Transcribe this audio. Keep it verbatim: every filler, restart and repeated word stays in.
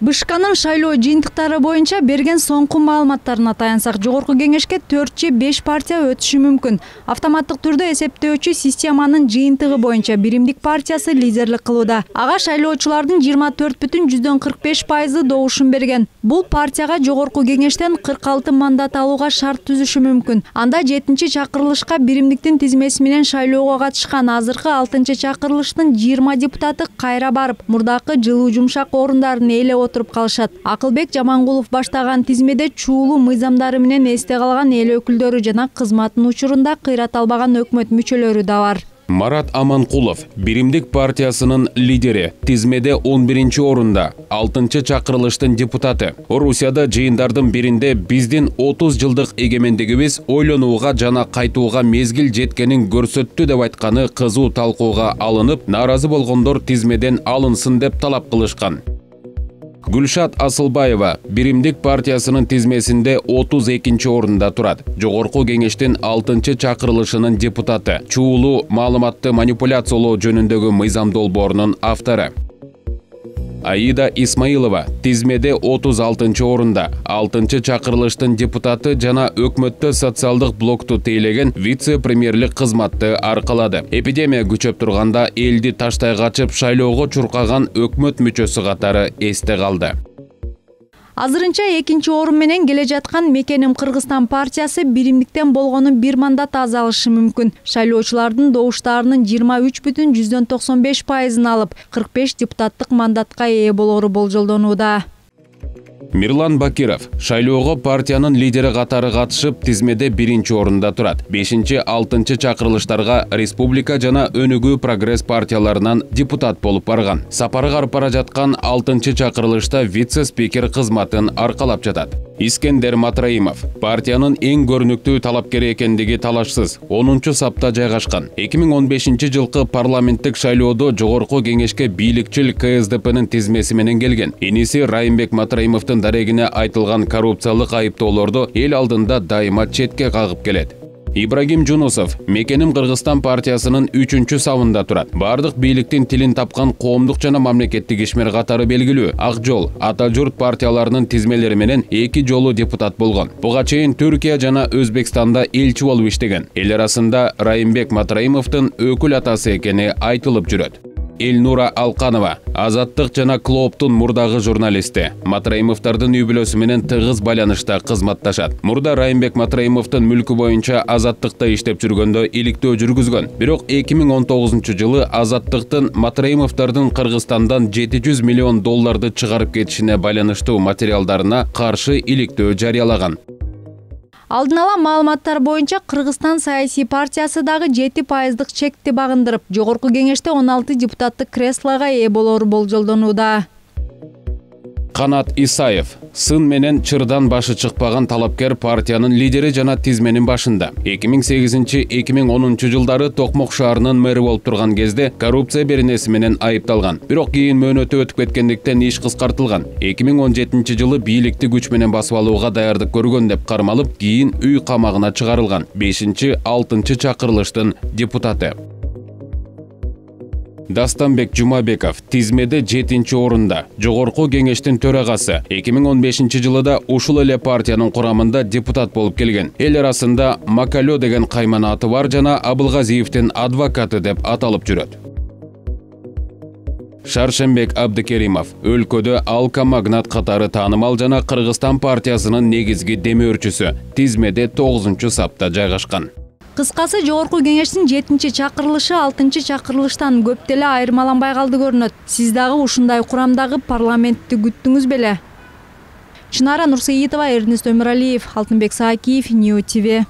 БШКнын шайлоо жыйынтыктары боюнча берген соңку маалыматтарына таянсак, жогорку кеңешке төрт же беш партия өтүшү мүмкүн. Автоматтык түрдө эсептөөчү системанын жыйынтыгы боюнча Биримдик партиясы лидерлик кылууда. Ага шайлоочулардын жыйырма төрт бүтүн жүздөн кырк беш пайызы добушун берген. Бул партияга жогорку кеңештен кырк алты мандат алууга шарт түзүшү мүмкүн. Анда жетинчи чакырылышка Биримдиктин тизмеси менен шайлоого катышкан азыркы алтынчы чакырылыштын жыйырма депутаты кайра барып, мурдакы жылуу жумшак орундарын ээлеп отуруп калышат. Акылбек Жамангулов баштаган тизмеде чуулуу мыйзамдары менен эсте калган эл өкүлдөрү жана кызматтын учурунда кыйрат албаган өкмөт мүчөлөрү да бар. Марат Аманкулов, Биримдик партиясынын лидери, тизмеде он биринчи орунда, алтынчы чакырылыштын депутаты. Орусияда жыйындардын биринде биздин отуз жылдык эгемендигибиз ойлонууга жана кайтууга мезгил жеткенин көрсөттү деп айтканы кызуу талкууга алынып, нааразы болгондор тизмеден алынсын деп талап кылышкан. Гүлшат Асылбаева Биримдик партиясынын тизмесинде отуз экинчи орунда турат. Жогорку кеңештин алтынчы чакырылышынын депутаты, чуулуу маалыматты манипуляциялоо жөнүндөгү мыйзам долбоорунун автору. Аида Исмаилова тизмеде отуз алтынчы орунда, алтынчы чакырылыштын депутаты жана өкмөттө социалдык блокту тейлеген вице-премьерлик кызматты аркалады. Эпидемия күчөп турганда элди таштай качып шайлоого чуркаган өкмөт мүчөсү катары эсте калды. Азырынча экинчи орун менен келе жаткан Мекеним Кыргызстан партиясы Биримдиктен болгону бир мандат аз алышы мүмкүн. Шайлоочулардын добуштарынын жыйырма үч бүтүн жүздөн токсон беш пайызын алып, кырк беш депутаттык мандатка ээ болору болжолдонууда. Мирлан Бакиров шайлоого партиянын лидери катары катышып, тизмеде биринчи орунда турат. бешинчи алтынчы чакырылыштарга Республика жана Өнүгүү прогресс партияларынан депутат болуп барган. Сапары карып бара жаткан алтынчы чакырылышта вице-спикер кызматын аркалап жатат. Искендер Матраимов партиянын эң көрүнүктүү талапкери экендиги талашсыз онунчу сапта жайгашкан. эки миң он бешинчи жылкы парламенттик шайлоодо жогорку кеңешке бийликчил Ка Эс Де Пнын тизмеси менен келген. Иниси Райымбек Матраимовдун дарегине айтылган коррупциялык айыптоолорду эл алдында дайыма четке кагып келет. Ибрагим Жунусов Мекеним Кыргызстан партиясынын үчүнчү сабында турат. Бардык бийликтин тилин тапкан коомдук жана мамлекеттик ишмер катары белгилүү. Ак Жол, Ата журт партияларынын тизмелери менен эки жолу депутат болгон. Буга чейин Түркия жана Өзбекстанда элчи болуп иштеген. Эл арасында Райымбек Матраимовдун өкүл атасы экени айтылып жүрөт. Элнура Алканова Азаттык жана Клооптун мурдагы журналисти. Матраимовдордун үй бүлөсү менен тыгыз байланышта кызматташат. Мурда Райымбек Матраимовдун мүлкү боюнча Азаттыкта иштеп жүргөндө иликтөө жүргүзгөн. Бирок эки миң он тогузунчу жылы Азаттыктын Матраимовдордун Кыргызстандан жети жүз миллион долларды чыгарып кетишине байланыштуу материалдарына каршы иликтөө жарыялаган. Алдын ала маалыматтар боюнча Кыргызстан саясий партиясы дагы жети пайыздык чекти багындырып, жогорку кеңеште он алты депутаттык креслого ээ болору болжолдонууда. Канат Исаев сын менен чырдан башы чыкпаган талапкер партиянын лидери жана тизменин башында. эки миң сегизинчи — эки миң онунчу жылдары Токмок шаарынын мэри болуп турган кезде коррупция беренеси менен айыпталган. Бирок кийин мөөнөтү өтүп кеткендиктен иш кыскартылган. эки миң он жетинчи жылы бийликти күч менен басып алууга даярдык көргөн деп кармалып, кийин үй камагына чыгарылган. бешинчи алтынчы чакырылыштын депутаты. Дастанбек Жумабеков тизмеде жетинчи орунда, жогорку кеңештин төрагасы. эки миң он бешинчи жылыда ушул эле партиянын курамында депутат болуп келген. Эл арасында Макалё деген кайман аты бар жана Абылгазиевдин адвокаты деп аталып жүрөт. Шаршембек Абдыкеримов өлкөдө Алка Магнат катары таанымал жана Кыргызстан партиясынын негизги демөөрчүсү. Тизмеде тогузунчу сапта жайгашкан. Кыскасы, жогорку кеңештин жетинчи чакырылышы алтынчы чакырылыштан көп деле айырмаланбай калды көрүнөт. Сиз дагы ушундай курамдагы парламентти күттүңүз беле? Чынара Нурсейитова, Эрнест Өмүралиев, Алтынбек Саакиев, Нью Ти Ви.